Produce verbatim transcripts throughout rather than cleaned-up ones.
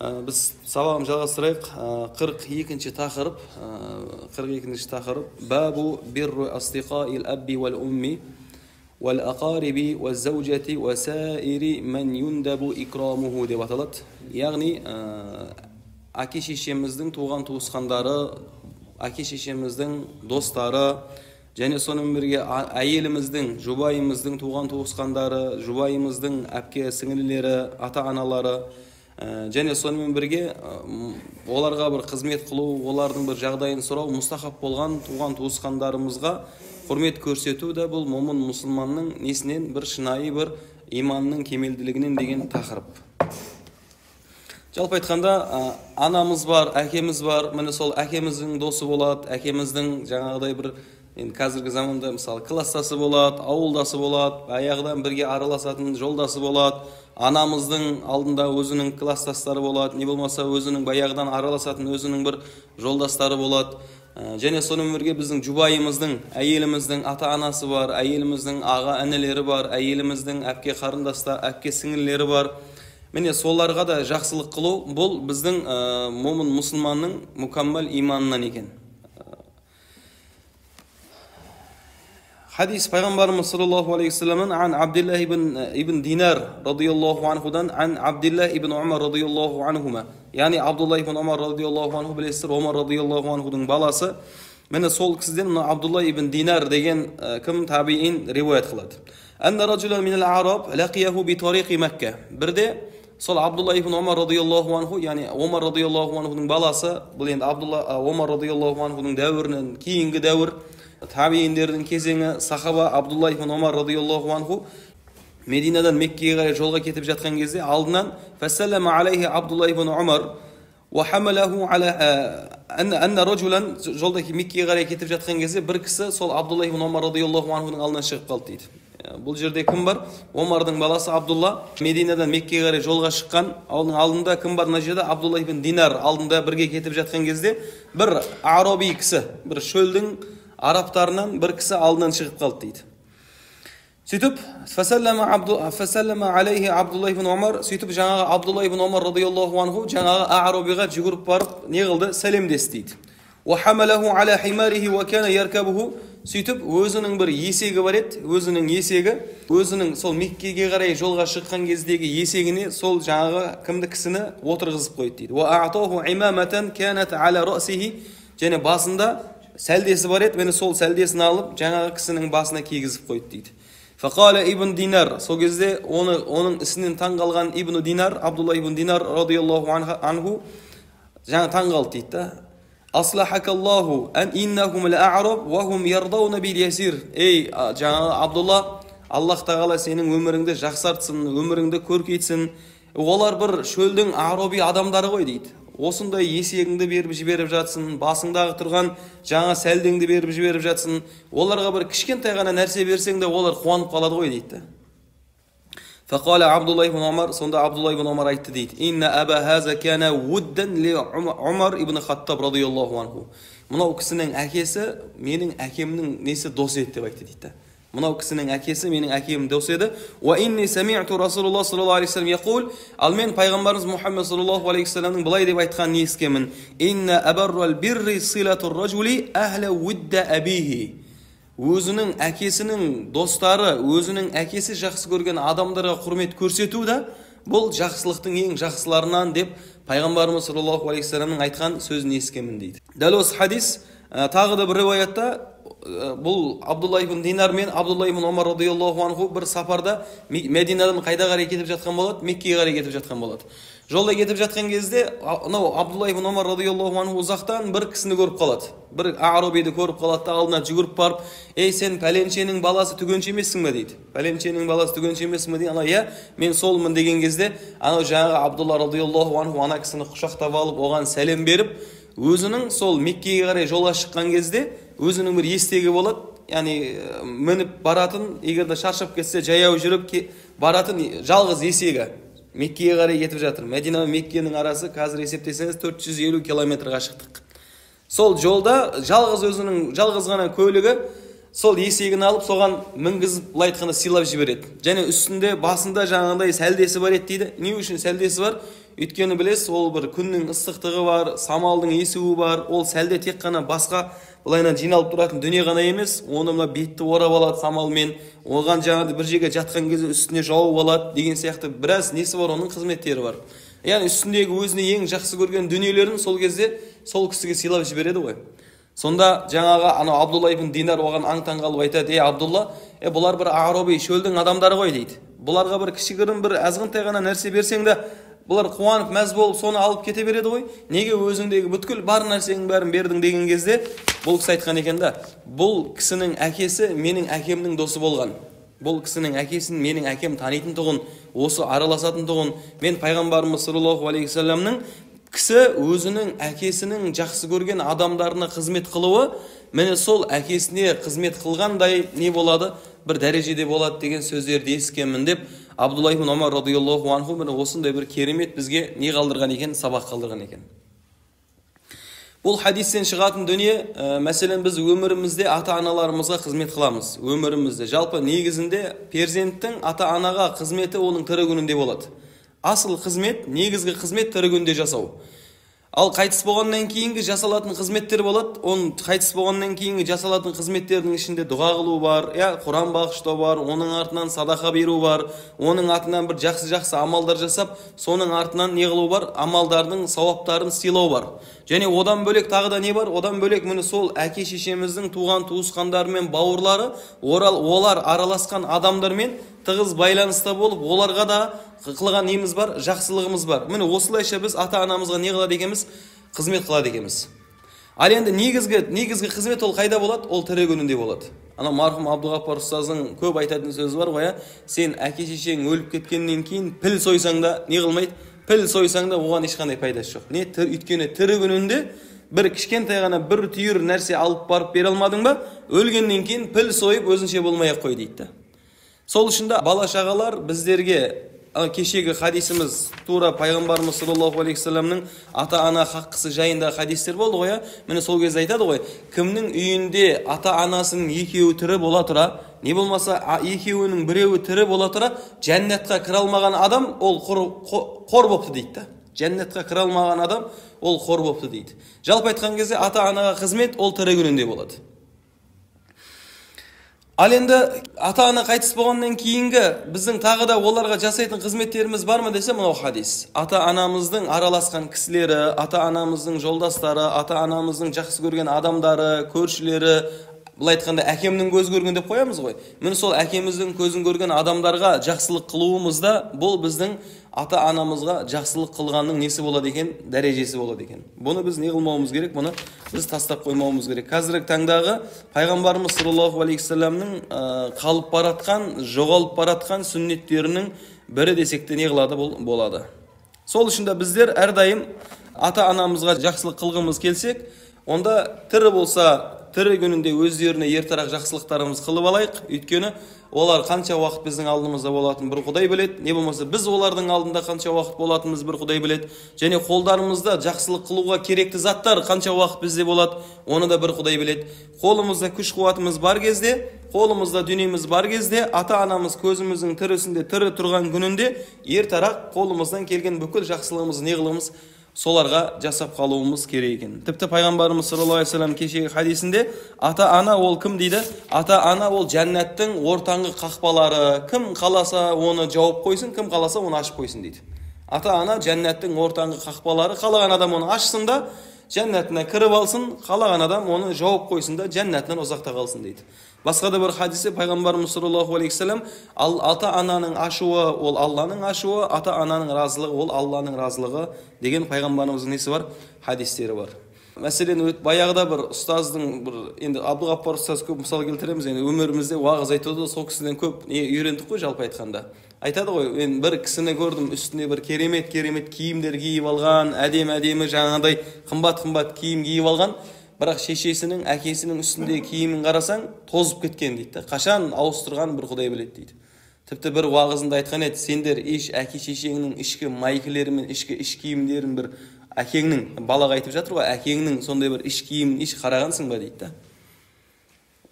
Біз сабағымызды жалғастырайық. қырық екінші тақырып, қырық екінші тақырып бабу бирру астиқаил абби вал умми вал ақариби вал заужати ва саири ман юндабу икрамуху деп аталады. Яғни әке шешеміздің туған туысқандары, әке шешеміздің достары, және сонымен бірге әйеліміздің, жұбайымыздың туған туысқандары, жұбайымыздың әпке сіңлілері, ата-аналары, және сонымен бірге оларға бір қызмет қылу, олардың бір жағдайын сұрау, мұстахаб болған туған туысқандарымызға құрмет көрсету да бұл момын мұсылманның несінен бір шынайы бір иманның кемелділігінен деген тақырып. Жалпы айтқанда, анамыз бар, әкеміз бар, міне сол әкеміздің досы болады, әкеміздің жаңағыдай бір енді қазіргі заманда мысалы кластасы болады, ауылдасы болады, аяғыдан бірге араласатын жолдасы болады, анамыздың алдында өзінің кластастары болады, не болмаса өзінің баяғыдан араласатын өзінің бір жолдастары болады. Және сонымен бірге біздің жұбайымыздың, әйеліміздің ата-анасы бар, әйеліміздің аға інілері бар, әйеліміздің әпке қарындастары, әпке сіңлілері бар. Міне соларға да жақсылық қылу бұл біздің момын мұсылманның мүкәммәл иманынан екен. Hadis Peygamberimiz sallallahu aleyhi ve sellem'in an Abdullah ibn ibn Dinar radıyallahu anhudan an Abdullah ibn Umar radıyallahu anhuma. Yani Abdullah ibn Umar radıyallahu anhu bilesizler, Umar radıyallahu anhu'nun balası. Mene sol kişiden Abdullah ibn Dinar degen kim tabi'in rivayet kıldı. Enne raculan minel Arab laqiyahu bi tariqi Mekke. Bir de sol Abdullah ibn Umar radıyallahu anhu, yani Umar radıyallahu anhu'nun balası, bu endi Abdullah Umar radıyallahu anhu'nun devrinin keyingi devr tabiinlerдің кезеңі сахаба Абдулла ибн Умар радıyallahu anhu Мединадан Меккеге қарай жолға кетіп жатқан кезде алдынан фассалама алейхи Абдулла ибн Умар ва хамалаху ала анна раджулан, жолда Меккеге қарай кетіп жатқан кезде бір кісі сол Абдулла ибн Умар радıyallahu anhuның алдынан шығып қалды дейді. Бұл жерде кім бар? Омардың баласы Абдулла. Мединадан Меккеге қарай жолға шыққан, оның алдында кім бар? Мына жерде Абдулла ибн Динар алдында бірге кетіп жатқан кезде бір араби кісі, бір шөлдің араптарынан бір кісі алдынан шығып қалды дейді. Сөйтіп, фасаллама алейхи Абдулла ибн Умар, сөйтіп жаңағы Абдулла ибн Умар радıyallahu анху жаңағы арабиға жүгіріп барып не қылды? Сәлемдесті дейді. Ва хамалаху ала химариhi ва кана яркабуху, сөйтіп өзінің бір есегі бар еді, өзінің есегі, өзінің сол Меккеге қарай жолға шыққан кездегі есегіне сол жаңағы кімді кісіні отырғызып қойды дейді. Ва а'таху имаматан канат ала расиhi, және басында сәлдесі бар еді, мені сол сәлдесін алып жаңағы кісінің басына кигізіп қойды дейді. Фақала ибн Динар, сол кезде оны оның ісінен таң қалған ибн Динар, Абдулла ибн Динар радıyallahu анху жаңа таң қалды дейді. Аслахакаллаху ан иннахум ла-а'раб ва хум ярдауна бил ясир. Ей жаңағы Абдулла, Аллах тағала сенің өміріңді жақсартсын, өміріңді көркейтсін. Олар бір шөлдің араби адамдары ғой дейді. Осындай есегіңді беріп жіберіп жатсын, басыңдағы тұрған жаңа сәлдеңді беріп жіберіп жатсын, оларға бір кішкентай ғана нәрсе берсең де олар қуанып қалады ғой дейді. Фақала Абдулла ибн Умар, сонда Абдулла ибн Умар айтты дейді. Инна аба хаза кана вуддан ли Умар ибн Хаттаб радıyallahu анху. Мынау кісінің әкесі менің әкемнің несі дос еді деп айтты дейді. Мынау кісінің әкесі менің әкемнің дос еді. Ва инни сами'ту Расулуллах саллаллаху алейхи вассалам яқул, ал мен пайғамбарымыз Мұхаммед саллаллаху алейхи вассаламның былай деп айтқанын ескемін. Инна абаррал бирри силатур раджули ахла вудда абихи. Өзінің әкесінің достары, өзінің әкесі жақсы көрген адамдарға құрмет көрсету да бұл жақсылықтың ең жақсыларынан деп пайғамбарымыз саллаллаху алейхи вассаламның айтқан сөзін ескемін дейді. Дәл осы хадис тағы да бір риwayatта бұл Абдулла ибн Динар мен Абдулла ибн Умар радıyallahu анху бір сапарда Мединадан қайда қарай кетіп жатқан болады? Меккеге қарай кетіп жатқан болады. Жолда кетіп жатқан кезде Абдулла ибн Умар радıyallahu анху ұзақтан бір кісіні көріп қалады. Бір арабиді көріп қалады да алдына жүгіріп барып, ей сен пәленшенің баласы түгенше емессің бе дейді. Пәленшенің баласы түгенше емессің бе дейді. Ана иә мен солмын деген кезде анау жаңағы Абдулла радıyallahu анху ана кісіні құшақтап алып оған сәлем беріп, өзінің сол Меккеге қарай жолға шыққан кезде өзінің бір естегі болады, яғни мініп баратын, егерде шаршап кетсе жаяу жүріп баратын жалғыз есегі Меккеге қарай кетіп жатыр. Медина мен Меккенің арасы қазір есептесеңіз төрт жүз елу километр қашықтық. Сол жолда жалғыз өзінің жалғыз ғана көлігі сол есегін алып соған мінгізіп былай айтқанда сыйлап жібереді. Және үстінде басында жаңағындай сәлдесі бар еді дейді. Не үшін сәлдесі бар? Өйткені білесіз, ол бір күннің ыстықтығы бар, самалдың есуі бар. Ол сәлде тек қана басқа былайынан жиналып тұратын дүние ғана емес, оны мына бетті орап алады самалмен, оған жаңағыдай бір жерге жатқан кезде үстіне жауып алады деген сияқты біраз несі бар, оның қызметтері бар. Яғни үстіндегі өзіне ең жақсы көрген дүниелерін сол кезде сол кісіге сыйлап жібереді ғой. Сонда жаңағы анау Абдулла ибн Динар оған аң-таң қалып айтады: "Ей Абдулла, е бұлар бір араби шөлдің адамдары ғой" дейді. "Бұларға бір кішігірім бір азғантай ғана нәрсе берсең де, бұлар қуанып мәз болып соны алып кете береді ғой. Неге өзіңдегі бүткіл бар нәрсенің бәрін бердің?" деген кезде бұл кісі айтқан екен да: "Бұл кісінің әкесі менің әкемнің досы болған. Бұл кісінің әкесін менің әкем танитын тұғын, осы араласатын тұғын. Мен пайғамбарымыз саллаллаху алейхи вассаламның кісі өзінің әкесінің жақсы көрген адамдарына қызмет қылуы, міне сол әкесіне қызмет қылғандай не болады? Бір дәрежеде болады" деген сөздерді ескенмін деп Абдулла ибн Омар радиаллаху анху міне осындай бір керемет бізге не қалдырған екен, сабақ қалдырған екен. Бұл хадистен шығатын дүние, ә, мәселен біз өмірімізде ата-аналарымызға қызмет қыламыз. Өмірімізде жалпы негізінде перзенттің ата-анаға қызметі оның тірі күнінде болады. Асыл қызмет, негізгі қызмет тірі күнде жасау. Ал қайтыс болғаннан кейінгі жасалатын қызметтер болады. Он қайтыс болғаннан кейінгі жасалатын қызметтердің ішінде дұға қылу бар, я Құран бағыштау бар, оның артынан садақа беру бар, оның артынан бір жақсы-жақсы амалдар жасап, соның артынан не қылу бар? Амалдардың сауаптарын сыйлау бар. Және одан бөлек тағы да не бар? Одан бөлек міне сол әке шешеміздің туған туысқандары мен бауырлары, олар араласқан адамдармен тығыз байланыста болып, оларға да қылған неміз бар, жақсылығымыз бар. Міне осылайша біз ата-анамызға не қылады екенбіз? Қызмет қылады екенбіз. Ал енді негізгі негізгі қызмет ол қайда болады? Ол тірі күнінде болады. Ана марқұм Абдуғаппар ұстаздың көп айтатын сөзі бар ғой, сен әке шешең өліп кеткеннен кейін піл сойсаң да не қылмайды? Піл сойсаң да оған ешқандай пайдасы жоқ. Не өйткені тірі күнінде бір кішкентай ғана бір түйір нәрсе алып барып бере алмадың ба? Өлгеннен кейін піл сойып өзінше болмай-ақ қой дейді. Сол үшін де бала шағалар біздерге кешегі хадисіміз тура пайғамбарымыз саллаллаху алейхи вассаламның ата-ана хаққысы жайында хадистер болды ғой. Міне сол кезде айтады ғой, кімнің үйінде ата-анасының екеуі тірі бола тұра, не болмаса екеуінің біреуі тірі бола тұра, жәннатқа кіре алмаған адам ол қор бопты дейді. Жәннатқа кіре алмаған адам ол қор бопты дейді. Жалпы айтқан кезде ата-анаға қызмет ол тірі күнінде болады. Ал енді ата-ана қайтыс болғаннан кейінгі біздің тағы да оларға жасайтын қызметтеріміз бар ма десе, мынау хадис. Ата-анамыздың араласқан кісілері, ата-анамыздың жолдастары, ата-анамыздың жақсы көрген адамдары, көршілері, былай айтқанда әкемнің көз көрген деп қоямыз ғой. Міне сол әкеміздің көзін көрген адамдарға жақсылық қылуымызда бұл біздің ата-анамызға жақсылық қылғанның несі болады екен? Дәрежесі болады екен. Бұны біз не қылмауымыз керек? Бұны біз тастап қоймауымыз керек. Қазіргі таңдағы пайғамбарымыз саллаллаху алейхи вассаламның қалып баратқан, жоғалып баратқан сүннеттерінің бірі десек те не қылады болады. Сол үшін де біздер әрдайым ата-анамызға жақсылық қылғымыз келсек, онда тірі болса тірі күнінде өздеріне ертарақ жақсылықтарымыз қылып алайық. Өйткені олар қанша уақыт біздің алдымызда болатынын бір Құдай біледі. Не болмаса біз олардың алдында қанша уақыт болатынымыз бір Құдай біледі. Және қолдарымызда жақсылық қылуға керекті заттар қанша уақыт бізде болады, оны да бір Құдай біледі. Қолымызда күш қуатымыз бар кезде, қолымызда дүниеміз бар кезде, ата-анамыз көзіміздің тірісінде, тірі тұрған күнінде ертарақ қолымыздан келген бүкіл жақсылығымызды не қылымыз? Соларға жасап қалуымыз керек екен. Тіпті пайғамбарымыз саллаллаху алейхи вассалам кешегі хадисінде ата-ана ол кім дейді? Ата-ана ол жәннаттың ортаңғы қақпалары. Кім қаласа оны жауып қойсын, кім қаласа оны ашып қойсын дейді. Ата-ана жәннаттың ортаңғы қақпалары. Қалаған адам оны ашсын да жәннатына кіріп алсын, қалаған адам оны жауып қойсын да жәннатынан ұзақта қалсын дейді. Басқа да бір хадисте пайғамбарымыз саллаллаху алейхи вассалам ата-ананың ашуы ол Алланың ашуы, ата-ананың разылығы ол Алланың разылығы деген пайғамбарымыздың несі бар? Хадистері бар. Мәселен, баяғыда бір ұстаздың бір енді Абдуғаппар ұстаз көп мысал келтіреміз. Енді өмірімізде уағыз айтуды сол кісіден көп не үйрендік қой жалпы айтқанда. Айтады ғой, мен бір кісіні көрдім, үстіне бір керемет-керемет киімдер киіп алған, әдемі-әдемі жаңағыдай қымбат-қымбат киім киіп алған. Бірақ шешесінің, әкесінің үстінде киімін қарасаң, тозып кеткен дейді. Қашан ауыстырған бір Құдай біледі дейді. Тіпті бір уағызында айтқан еді, сендер еш әке шешеңнің ішкі майкілері мен ішкі іш киімдерін бір әкеңнің, балаға айтып жатыр ғой, әкеңнің сондай бір іш киімін еш қарағансың ба дейді.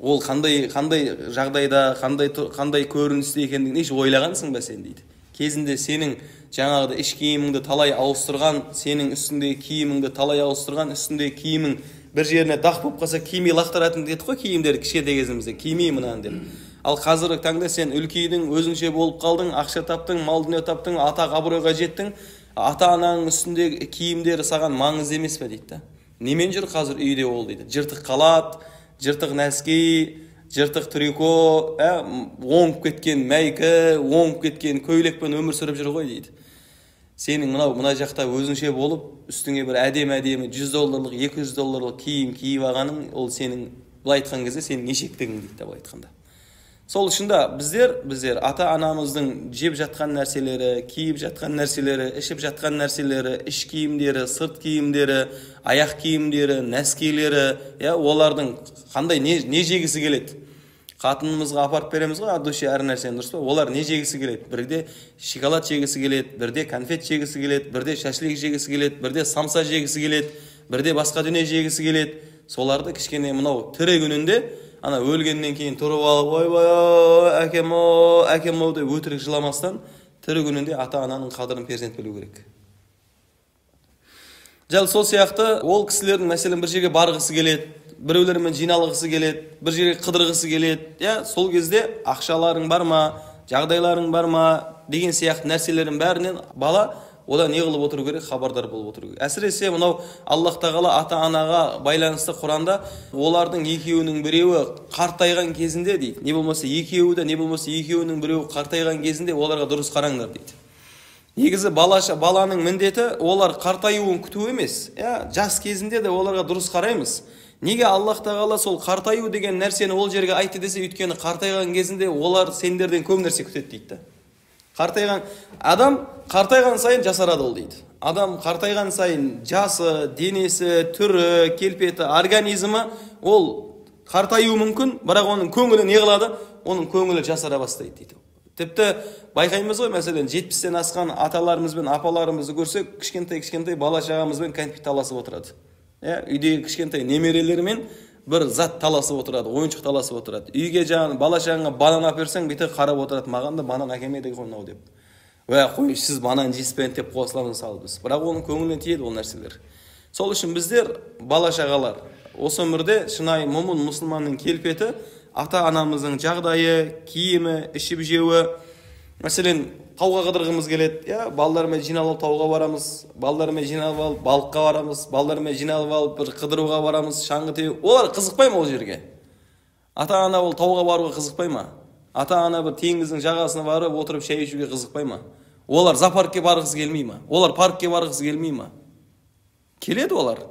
ол қандай қандай жағдайда, қандай қандай көріністе екендігін еш ойлағансың ба сен дейді. Кезінде сенің жаңағыда іш киіміңді талай ауыстырған, сенің үстіндегі киіміңді талай ауыстырған, үстіндегі киімің бір жеріне дақ болып қалса кимей лақтыратын деді ғой киімдерді кішкентай кезімізде, кимей мынаны деп. Ал қазіргі таңда сен үлкейдің, өзіңше болып қалдың, ақша таптың, мал дүние таптың, атақ абыройға жеттің, ата-ананың үстіндегі киімдері саған маңызды емес пе дейді. Немен жүр қазір үйде ол дейді. Жыртық қалат, жыртық нәски, жыртық трико, оңып кеткен мәйкі, оңып кеткен көйлекпен өмір сүріп жүр ғой дейді. Сенің мынау мына жақта өзіңше болып, үстіңе бір әдем-әдемі жүз долларлық, екі жүз долларлық киім киіп алғаның, ол сенің былай айтқан кезде сенің ешектігің дейді былай айтқанда. Сол үшін да біздер, біздер ата-анамыздың жеп жатқан нәрселері, киіп жатқан нәрселері, ішіп жатқан нәрселері, іш киімдері, сырт киімдері, аяқ киімдері, нәскилері, я, олардың қандай не, не жегісі келеді? Қатынымызға апарып береміз ғой, адуше әр нәрсені, дұрыс па? Олар не жегісі келеді? Бірде шоколад жегісі келеді, бірде конфет жегісі келеді, бірде шашлик жегісі келеді, бірде самса жегісі келеді, бірде басқа дүние жегісі келеді. Соларды кішкене мынау тірі күнінде ана өлгеннен кейін тұрып алып, ойбай, әкем-ау, әкем-ау деп өтірік жыламастан, тірі күнінде ата-ананың қадірін перзент білу керек. Жал сол сияқты ол кісілердің мәселен бір жерге барғысы келеді, біреулермен жиналғысы келеді, бір жерге қыдырғысы келеді. Я, сол кезде ақшаларың бар ма, жағдайларың бар ма деген сияқты нәрселердің бәрінен бала одан не қылып отыру керек, хабардар болып отыру керек. Әсіресе мынау Аллах тағала ата-анаға байланысты Құранда олардың екеуінің біреуі қартайған кезінде дейді. Не болмаса екеуі де, не болмаса екеуінің біреуі қартайған кезінде оларға дұрыс қараңдар дейді. Негізі балаша баланың міндеті олар қартаюын күту емес. Я, жас кезінде де оларға дұрыс қараймыз. Неге Аллах тағала сол қартаю деген нәрсені ол жерге айтты десе, өйткені қартайған кезінде олар сендерден көп нәрсе күтеді дейді. Қартайған адам қартайған сайын жасарады ол дейді. Адам қартайған сайын жасы, денесі, түрі, келпеті, организмі ол қартаюы мүмкін, бірақ оның көңілі не қылады? Оның көңілі жасара бастайды дейді. Тіпті байқаймыз ғой, мәселен, жетпістен асқан аталарымыз бен апаларымызды көрсек, кішкентай-кішкентай бала шағамызбен кәмпит таласып отырады. Үйдегі кішкентай немерелермен бір зат таласып отырады, ойыншық таласып отырады. Үйге жаңағы бала шағаңа банан әперсең, бүйтіп қарап отырады, маған да банан әкелмеді ғой деп. Уә, қой, сіз банан жеспен деп қосыламыз салбыз. Бірақ оның көңіліне тиеді ол нәрселер. Сол үшін біздер бала шағалар осы өмірде шынайы момын мұсылманның келпеті ата-анамыздың жағдайы, киімі, ішіп жеуі. Мәселен, тауға қыдырғымыз келеді, я, балдармен жиналып тауға барамыз, балдармен жиналып алып балыққа барамыз, балдармен жиналып алып бір қыдыруға барамыз, шаңғы теуіп. Олар қызықпай ма ол жерге? Ата-ана ол тауға баруға қызықпай ма? Ата-ана бір теңіздің жағасына барып отырып шай ішуге қызықпай ма? Олар зоопаркке барғысы келмей ма? Олар паркке барғысы келмей ма? Келеді олар.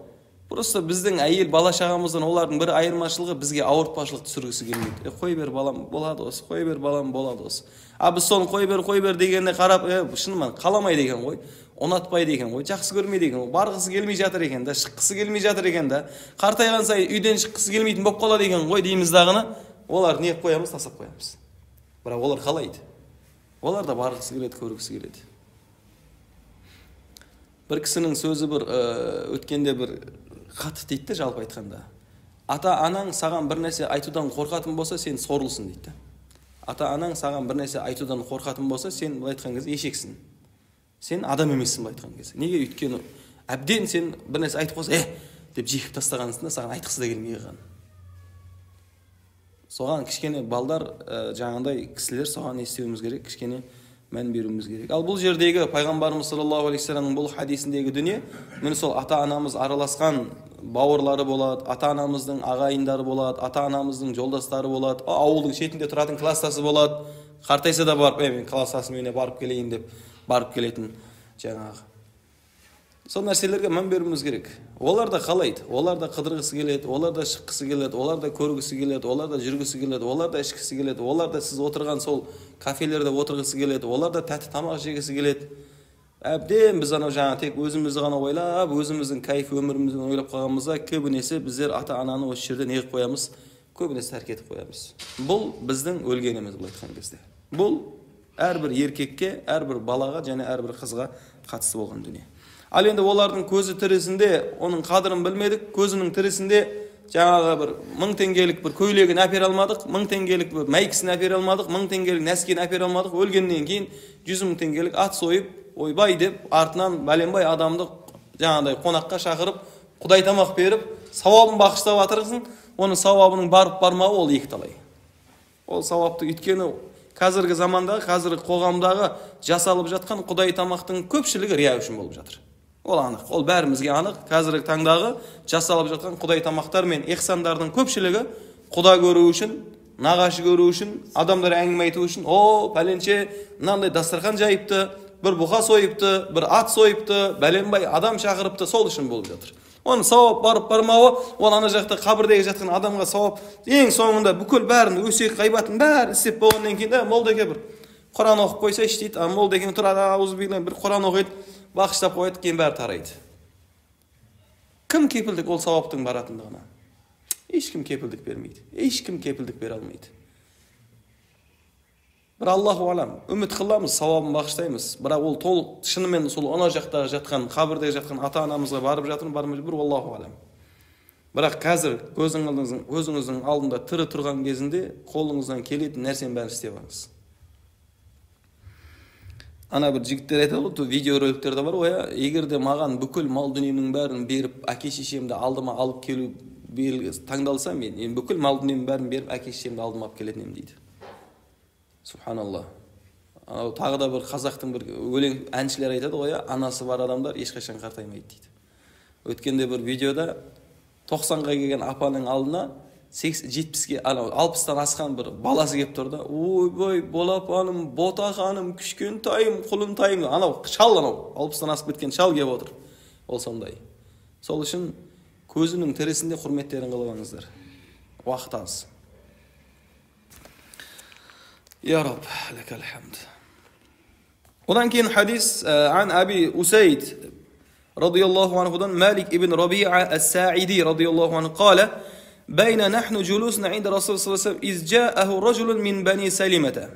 Просто біздің әйел бала шағамыздан олардың бір айырмашылығы бізге ауыртпашылық түсіргісі келмейді. Е, қой бер балам, болады осы, қой бер балам, болады осы. А біз соны қой бер, қой бер дегенде қарап, е, шынымен қаламайды екен ғой, ұнатпайды екен ғой, жақсы көрмейді екен ғой, барғысы келмей жатыр екен да, шыққысы келмей жатыр екен да, қартайған сайын үйден шыққысы келмейтін болып қалады екен ғой дейміз дағыны, олар не қоямыз, тастап қоямыз. Бірақ олар қалайды. Олар да барғысы келеді, көргісі келеді. Бір кісінің сөзі бір өткенде бір қатты дейді, жалпы айтқанда. Ата-анаң саған бір нәрсе айтудан қорқатын болса, сен сорлысың дейді. Ата-анаң саған бір нәрсе айтудан қорқатын болса, сен былай айтқан кезде ешексің. Сен адам емессің былай айтқан кезде. Неге? Өйткені әбден сен бір нәрсе айтып қойса, «Е!» деп жекіп тастағансың да, саған айтқысы да келмей қалған. Соған кішкене балдар, жаңағындай кісілер соған естуіміз керек, кішкене мән беруіміз керек. Ал бұл жердегі пайғамбарымыз саллаллаху алейхи вассаламның бұл хадисіндегі дүние, міне сол ата-анамыз араласқан бауырлары болады, ата-анамыздың ағайындары болады, ата-анамыздың жолдастары болады, ауылдың шетінде тұратын кластасы болады. Қартайса да барып, мен кластасыммен барып келейін деп барып келетін жаңағы. Сол нәрселерге мән беруіміз керек. Олар да қалайды, олар да қыдырғысы келеді, олар да шыққысы келеді, олар да көргісі келеді, олар да жүргісі келеді, олар да ішкісі келеді, олар да сіз отырған сол кафелерде отырғысы келеді, олар да тәтті тамақ жегісі келеді. Әбден біз анау жаңа тек өзімізді ғана ойлап, өзіміздің кайф өмірімізді ойлап қалғанымызда көбінесе біздер ата-ананы осы жерде не қылып қоямыз? Көбінесе тәрк етіп қоямыз. Бұл біздің өлгеніміз былай айтқан кезде. Бұл әрбір еркекке, әрбір балаға және әрбір қызға қатысты болған дүние. Ал енді олардың көзі тірісінде оның қадірін білмедік, көзінің тірісінде жаңағы бір мың теңгелік бір көйлегін әпере алмадық, мың теңгелік бір майкасын әпере алмадық, мың теңгелік нәскиін әпере алмадық, өлгеннен кейін жүз мың теңгелік ат сойып, ойбай деп, артынан бәленбай адамды жаңағыдай қонаққа шақырып, құдай тамақ беріп, сауабын бағыштап жатырсың, оның сауабының барып бармауы ол екі талай. Ол сауапты өйткені қазіргі замандағы, қазіргі қоғамдағы жасалып жатқан құдай тамақтың көпшілігі рия үшін болып жатыр. Ол анық, ол бәрімізге анық. Қазіргі таңдағы жасалып жатқан құдай тамақтар мен ихсандардың көпшілігі құда көру үшін, нағашы көру үшін, адамдар әңгіме айту үшін, о, пәленше мынандай дастархан жайыпты, бір бұқа сойыпты, бір ат сойыпты, бәленбай адам шақырыпты, сол үшін болып жатыр. Оның сауап барып бармауы, ол ана жақта қабірдегі жатқан адамға сауап, ең соңында бүкіл бәрін өсек ғайбатын бәрін істеп болғаннан кейін де молдаке бір Құран оқып қойса іштейді, а молдакен тұрады, аузубилlah бір Құран оқиды, бақыштап қояды, кейін бәрі тарайды. Кім кепілдік ол сауаптың баратындығына? Ешкім кепілдік бермейді. Ешкім кепілдік бере алмайды. Бір Аллаху алам, үміт қыламыз, сауабын бағыштаймыз. Бірақ ол толық шынымен сол ана жақтағы жатқан, қабірдегі жатқан ата-анамызға барып жатыр, бармай бір Аллаху алам. Бірақ қазір көзіңіздің өзіңіздің алдында тірі тұрған кезінде қолыңыздан келетін нәрсені бәрін істеп алыңыз. Ана бір жігіттер айтады ғой, видеороликтер де бар ғой, егер де маған бүкіл мал дүниемнің бәрін беріп, әке-шешемді алдыма алып келу таңдалса, мен бүкіл мал дүниемнің бәрін беріп, әке-шешемді алдыма алып келетін едім дейді. Субханалла. Тағы да бір қазақтың бір өлең әншілер айтады ғой, анасы бар адамдар ешқашан қартаймайды дейді. Өткенде бір видеода тоқсанға келген апаның алдына жетпіске, алпыстан асқан бір баласы келіп тұрды. Ой-бой, болапаным, ботақаным, кішкентайым, құлынтайым. Анау шал, анау алпыстан асып кеткен шал келіп отыр. Ол сондай. Сол үшін көзінің тірісінде құрметтерін қылып алыңыздар. Уақыт аз. يا رب لك الحمد. Одан кейін хадис عن أبي أسيد رضي الله عنه مالك ابن ربيعة الساعدي رضي الله عنه قال بين نحن جلوسنا عند رسول صلى الله عليه وسلم إذ جاءه رجل من بني سلمة.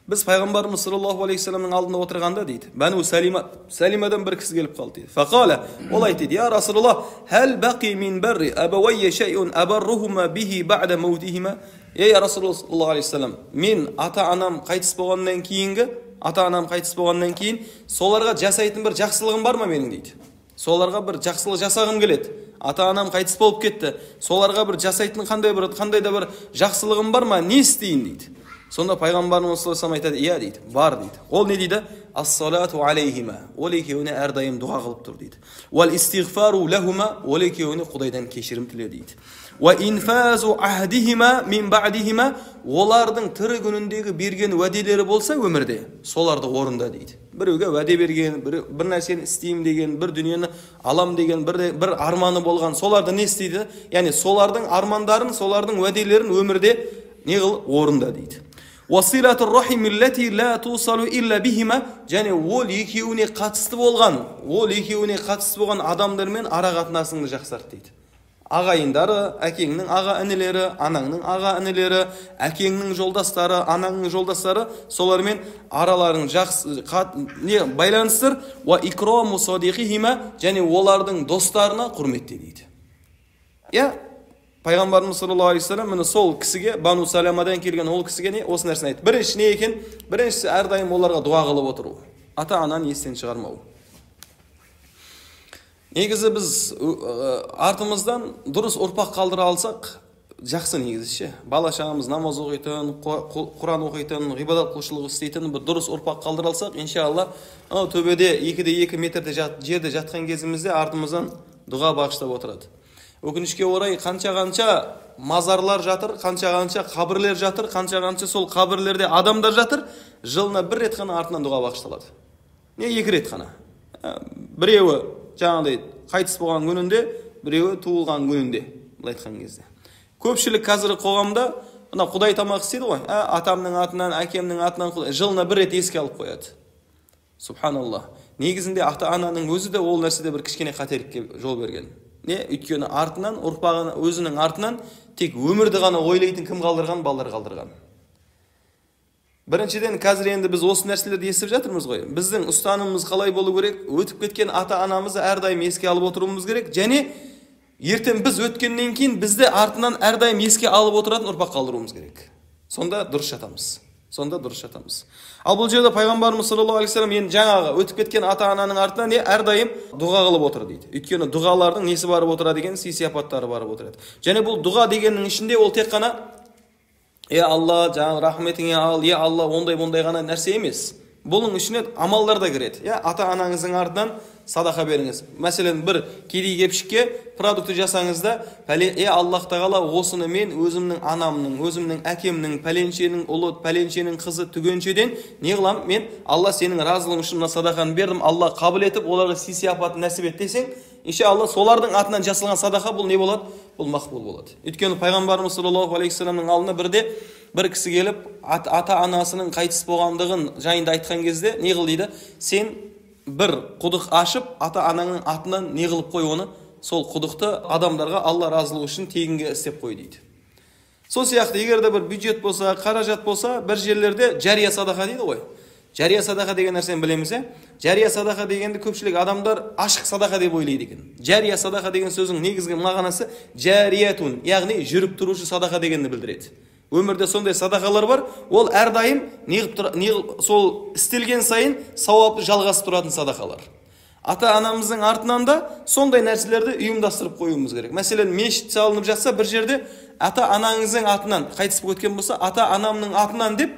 Biz Peygamberimiz sallallahu aleyhi ve sellem'in aldığında oturganda deydi. Banu Salima, Salima'dan bir kişi gelip kaldı deydi. Fekale, olay dedi, ya Resulullah, hel baqi min berri ebeveyye şey'un eberruhuma bihi ba'de mevtihima. Ya Resulullah sallallahu aleyhi ve sellem, min ata-anam qaytis bolgandan keyingi, ata-anam qaytis bolgandan keyin solarga jasaytın bir жақсылығым бар ма менің deydi. Соларға бір жақсылық жасағым келеді. Ата-анам қайтыс болып кетті. Соларға бір жасайтын қандай бір қандай да бір жақсылығым бар ма? Не істейін дейді. Сонда пайғамбарымыз саллаллаху алейхи айтады, иә дейді, бар дейді. Ол не дейді? Ас-салату алейхима. Ол екеуіне әрдайым дұға қылып тұр дейді. Уал истигфару лахума. Ол екеуіне Құдайдан кешірім тіле дейді. Ва инфазу ахдихима мин бa'дихима. Олардың тірі күніндегі берген уәделері болса өмірде, соларды орында дейді. Біреуге уәде берген, бір, бір нәрсені істеймін деген, бір дүниені алам деген, бір, бір арманы болған, соларды не істейді? Яғни солардың армандарын, солардың уәделерін өмірде не қыл орында дейді. Василатур рахимиллати ла тусалу илля бихима. Және ол екеуіне қатысты болған, ол екеуіне қатысты болған адамдармен ара қатынасыңды жақсарт дейді. Ағайындары, әкеңнің аға інілері, анаңның аға інілері, әкеңнің жолдастары, анаңның жолдастары, солармен араларын жақсы не байланыстыр. Ва икраму садиқихима. Және олардың достарына құрметте дейді. Я Пайғамбарымыз саллаллаху алейхи вассалам міне сол кісіге, Бану Саламадан келген ол кісіге не осы нәрсені айтты. Бірінші не екен? Біріншісі әрдайым оларға дуа қылып отыру. Ата-ананы естен шығармау. Негізі біз артымыздан дұрыс ұрпақ қалдыра алсақ, жақсы негізі ше. Бала шағамыз намаз оқитын, Құран оқитын, ғибадат қылушылық істейтін бір дұрыс ұрпақ қалдыра алсақ, иншалла, анау төбеде екіде екі метрде жерде жатқан кезімізде артымыздан дұға бағыштап отырады. Өкінішке орай қанша-қанша мазарлар жатыр, қанша-қанша қабірлер жатыр, қанша-қанша сол қабірлерде адамдар жатыр, жылына бір рет қана артынан дұға бағышталады. Не екі рет қана. Біреуі жаңағыдай қайтыс болған күнінде, біреуі туылған күнінде, былай айтқан кезде. Көпшілік қазіргі қоғамда мына Құдай тамақ істейді ғой, атамның атынан, әкемнің атынан жылына бір рет еске алып қояды. Субханаллах. Негізінде ата-ананың өзі де ол нәрседе бір кішкене қателікке жол берген. Не, өйткені артынан, ұрпағын өзінің артынан тек өмірді ғана ойлайтын кім қалдырған, балалар қалдырған. Біріншіден, қазір енді біз осы нәрселерді естіп жатырмыз ғой. Біздің ұстанымымыз қалай болу керек? Өтіп кеткен ата-анамызды әрдайым еске алып отыруымыз керек. Және ертең біз өткеннен кейін бізді артынан әрдайым еске алып отыратын ұрпақ қалдыруымыз керек. Сонда дұрыс жатамыз. Сонда дұрыс жатамыз. Ал бұл жерде пайғамбарымыз саллаллаху алейхи вассалам енді жаңағы өтіп кеткен ата-ананың артынан не әрдайым дұға қылып отыр дейді. Өйткені дұғалардың несі барып отырады екен, сый-сияпаттары барып отырады. Және бұл дұға дегеннің ішінде ол тек қана е Алла, жаңағы рахметіңе ал, е Алла, ондай-ондай ғана нәрсе емес. Бұның ішіне амалдар да кіреді. Я ата-анаңыздың артынан садақа беріңіз. Мәселен, бір кедей кепшікке продукты жасаңыз да, е Аллах тағала осыны мен өзімнің анамның, өзімнің әкемнің, пәленшенің ұлы, пәленшенің қызы түгеншеден не қылам? Мен Алла сенің разылың үшін мына садақаны бердім. Алла қабыл етіп, оларға сый-сияпатын нәсіп ет десең, иншалла солардың атынан жасалған садақа бұл не болады? Бұл мақбул болады. Өйткені пайғамбарымыз саллаллаху алейхи вассаламның алдына бірде бір кісі келіп, ата-анасының қайтыс болғандығын жайында айтқан кезде не қыл дейді? Сен бір құдық ашып, ата-анаңның атынан не қылып қой оны? Сол құдықты адамдарға Алла разылығы үшін тегінге істеп қой дейді. Сол сияқты, егер де бір бюджет болса, қаражат болса, бір жерлерде жария садақа дейді ғой. Жария садақа деген нәрсені білеміз, е? Жария садақа дегенді көпшілік адамдар ашық садақа деп ойлайды екен. Жария садақа деген сөздің негізгі мағынасы жариятун, яғни жүріп тұрушы садақа дегенді білдіреді. Өмірде сондай садақалар бар, ол әрдайым неғып сол істелген сайын сауапты жалғасып тұратын садақалар. Ата-анамыздың артынан да сондай нәрселерді ұйымдастырып қоюымыз керек. Мәселен, мешіт салынып жатса, бір жерде ата-анаңыздың атынан қайтыс болып кеткен болса, ата-анамның атынан деп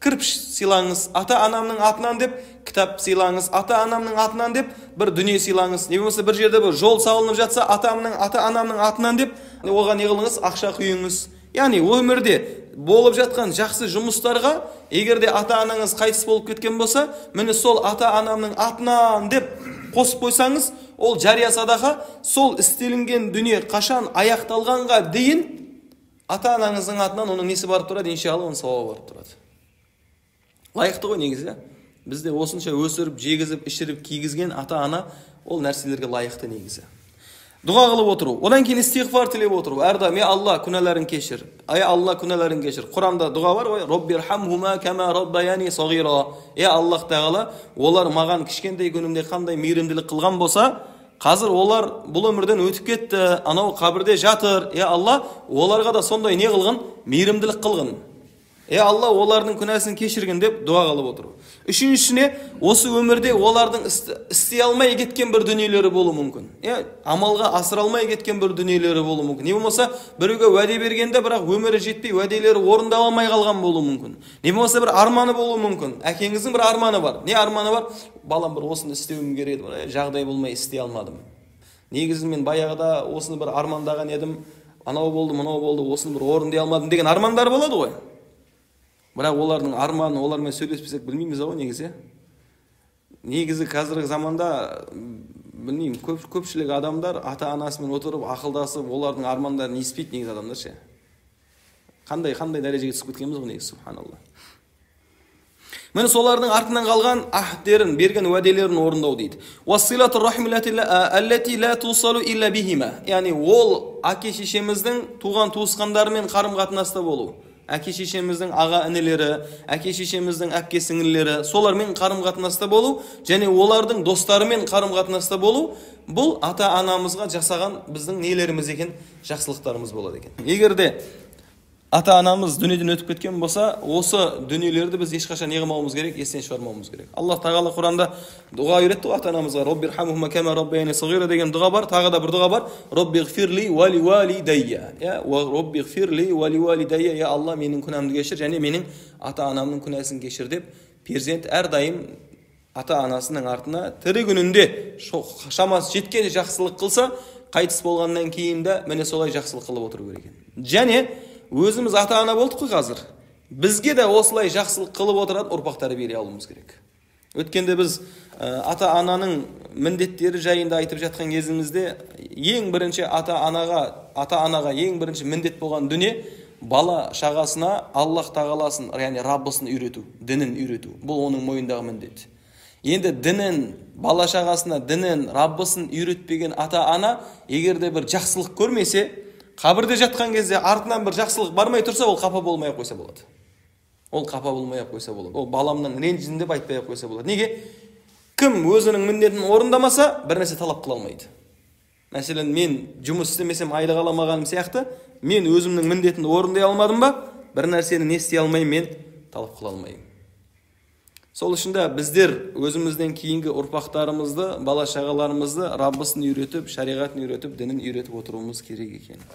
кірпіш сыйлаңыз, ата-анамның атынан деп кітап сыйлаңыз, ата-анамның атынан деп бір дүние сыйлаңыз. Не болмаса бір жерде бір жол салынып жатса, ата-анамның атынан деп оған не қылыңыз? Ақша құйыңыз. Яғни өмірде болып жатқан жақсы жұмыстарға егерде ата-анаңыз қайтыс болып кеткен болса, міне сол ата-анамның атынан деп қосып қойсаңыз, ол жария садақа, сол істелінген дүние қашан аяқталғанға дейін ата-анаңыздың атынан оның несі барып тұрады? Иншалла, оның сауабы барып тұрады. Лайықты ғой негізі. Бізде осынша өсіріп, жегізіп, ішіріп, кигізген ата-ана ол нәрселерге лайықты негізі. Дұға қылып отыру, одан кейін истиғфар тілеп отыру. Әрдайым, е Алла, күнәләрін кешір. Ай Алла, күнәләрін кешір. Құранда дұға бар ғой, Роббирхамхума кама раббаяни сағира. Е Аллах тағала, олар маған кішкентай күнімде қандай мейірімділік қылған болса, қазір олар бұл өмірден өтіп кетті, анау қабірде жатыр. Е Алла, оларға да сондай не қылғын? Мейірімділік қылғын. Е Алла, олардың күнәсін кешіргін деп дұға қылып отыру. Үшіншісіне, осы өмірде олардың істей алмай кеткен бір дүниелері болуы мүмкін. Е, амалға асыра алмай кеткен бір дүниелері болуы мүмкін. Не болмаса, біреуге уәде бергенде, бірақ өмірі жетпей, уәделері орындаламай қалған болуы мүмкін. Не болмаса, бір арманы болуы мүмкін. Әкеңіздің бір арманы бар. Не арманы бар? Балам, бір осыны істеуім керек еді, жағдай болмай істей алмадым. Негізі мен баяғыда осыны бір армандаған едім, анау болды, мынау болды, осыны бір орындай алмадым деген армандар болады ғой. Бірақ олардың арманы, олармен сөйлеспесек білмейміз ғой негізі. Негізі қазіргі заманда білмеймін, көп, көпшілік адамдар ата-анасымен отырып, ақылдасып, олардың армандарын еспейді негізі адамдар ше. Қандай қандай дәрежеге түсіп кеткенбіз ғой негізі, субханалла. Міне солардың артынан қалған ахдерін, берген уәделерін орындау дейді. Уассилату рахмилати аллати ла тусалу илля бихима. Яғни ол әке шешеміздің туған туысқандарымен қарым-қатынаста болу. Әке шешеміздің аға інілері, әке шешеміздің әпке сіңлілері, солармен қарым-қатынаста болу, және олардың достарымен қарым-қатынаста болу, бұл ата-анамызға жасаған біздің нелеріміз екен, жақсылықтарымыз болады екен. Егер де ата-анамыз дүниеден өтіп кеткен болса, осы дүниелерді біз ешқашан не қылмауымыз керек, естен шығармауымыз керек. Аллах тағала Құранда дұға үйретті ата-анамызға, Роббирхамхума кама раббаяни сағира деген дұға бар, тағы да бір дұға бар, Роббигфирли ва ливалидайя. Я Роббигфирли ва ливалидайя, я Алла, менің күнәмді кешір және менің ата-анамның күнәсін кешір деп, перзент әрдайым ата-анасының артына тірі күнінде шамасы жеткен жақсылық қылса, қайтыс болғаннан кейін де міне солай жақсылық қылып отыру керек екен. Және өзіміз ата-ана болдық қой қазір. Бізге де осылай жақсылық қылып отыратын ұрпақ тәрбиелей алуымыз керек. Өткенде біз ата-ананың міндеттері жайында айтып жатқан кезімізде ең бірінші ата-анаға, ата-анаға ең бірінші міндет болған дүние бала шағасына Аллах тағаласын, яғни Раббысын үйрету, дінін үйрету. Бұл оның мойнындағы міндет. Енді дінін, бала шағасына дінін, Раббысын үйретпеген ата-ана егерде бір жақсылық көрмесе, қабірде жатқан кезде артынан бір жақсылық бармай тұрса, ол қапа болмай қойса болады. Ол қапа болмай қойса болады. Ол баламның ренжідім деп айтпай қойса болады. Неге? Кім өзінің міндетін орындамаса, бір нәрсе талап қыла алмайды. Мәселен, мен жұмыс істемесем айлық аламағаным сияқты, мен өзімнің міндетімді орындай алмадым ба, бір нәрсені не істей алмаймын, мен талап қыла алмаймын. Сол үшін де біздер өзімізден кейінгі ұрпақтарымызды, бала шағаларымызды Раббысын үйретіп, шариғатын үйретіп, дінін үйретіп отыруымыз керек екен.